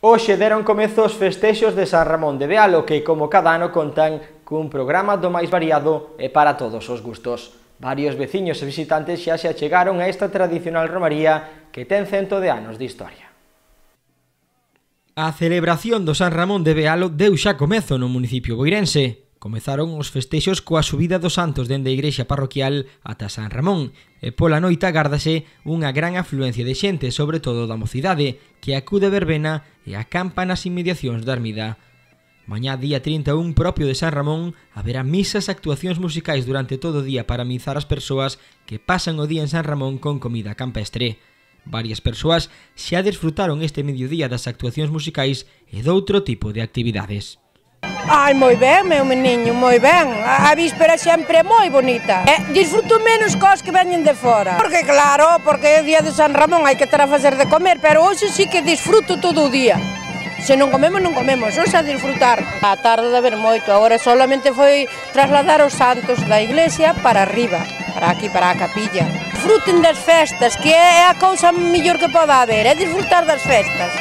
Hoxe deron comezo os festexos de San Ramón de Bealo, que como cada ano contan cun programa do máis variado e para todos os gustos. Varios veciños e visitantes xa se achegaron a esta tradicional romaría que ten 100 de anos de historia. A celebración do San Ramón de Bealo deu xa comezo no municipio boirense. Comezaron os festexos coa subida dos santos dende a igrexa parroquial ata San Ramón e pola noite agárdase unha gran afluencia de xente, sobre todo da mocidade, que acude a verbena e acampa nas inmediacións da ermida. Mañá día 31 propio de San Ramón haberá misas e actuacións musicais durante todo o día para amenizar as persoas que pasan o día en San Ramón con comida campestre. Varias persoas xa desfrutaron este mediodía das actuacións musicais e doutro tipo de actividades. Ai, moi ben, meu meniño, moi ben. A víspera sempre é moi bonita. Disfruto menos cos que veñen de fora. Porque claro, porque é o día de San Ramón, hai que ter a facer de comer, pero hoxe sí que disfruto todo o día. Se non comemos, non comemos, hoxe a disfrutar. A tarde de haber moito, agora solamente foi trasladar os santos da iglesia para arriba, para aquí, para a capilla. Disfruten das festas, que é a cousa mellor que poda haber, é disfrutar das festas.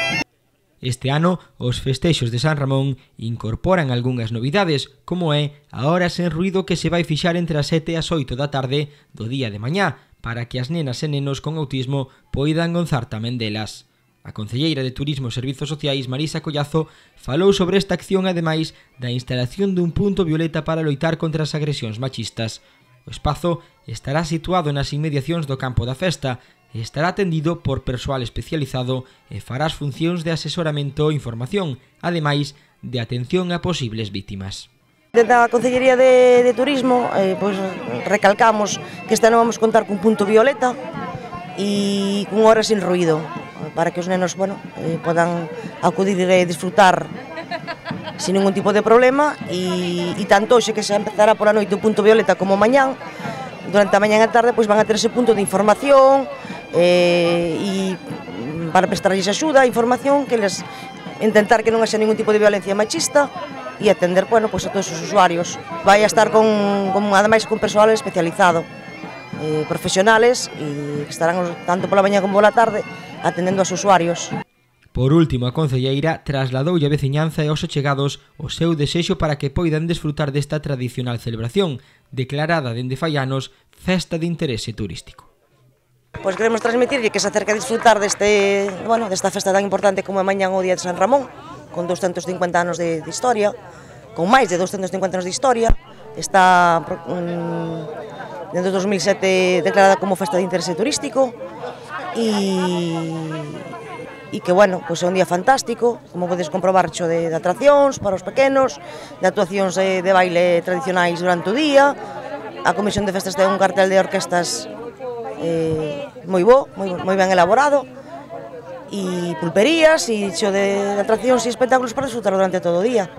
Este ano, os festexos de San Ramón incorporan algunhas novidades, como é a hora sen ruído que se vai fixar entre as 7 e as 8 da tarde do día de mañá, para que as nenas e nenos con autismo poidan gozar tamén delas. A concelleira de Turismo e Servizos Sociais, Marisa Collazo, falou sobre esta acción ademais da instalación dun punto violeta para loitar contra as agresións machistas. O espazo estará situado nas inmediacións do campo da festa e estará atendido por persoal especializado e fará as funcións de asesoramento e información, ademais de atención a posibles vítimas. Dentro da Concellería de Turismo recalcamos que este ano vamos contar cun punto violeta e cun hora sin ruído, para que os nenos podan acudir e disfrutar sin ningún tipo de problema e tanto hoxe que se empezará por a noite o punto violeta como mañán, durante a mañá e a tarde van a ter ese punto de información e para prestarlles axuda, información, que les intentar que non haxa ningún tipo de violencia machista e atender a todos os usuarios. Vai a estar ademais con persoal especializado, profesionales, e que estarán tanto pola mañá como pola tarde atendendo aos usuarios. Por último, a concelleira trasladoulle a veciñanza e aos achegados o seu desexo para que poidan desfrutar desta tradicional celebración, declarada dende fai anos festa de interese turístico. Pois queremos transmitirlle que se acerca a disfrutar desta festa tan importante como é mañán o día de San Ramón, con 250 anos de historia, con máis de 250 anos de historia. Está dentro de 2007 declarada como festa de interese turístico e que, é un día fantástico, como podes comprobar, cho de atraccións para os pequenos, de actuacións de baile tradicionais durante o día. A Comisión de Festas ten un cartel de orquestas moi ben elaborado, e pulperías e cho de atraccións e espectáculos para disfrutar durante todo o día.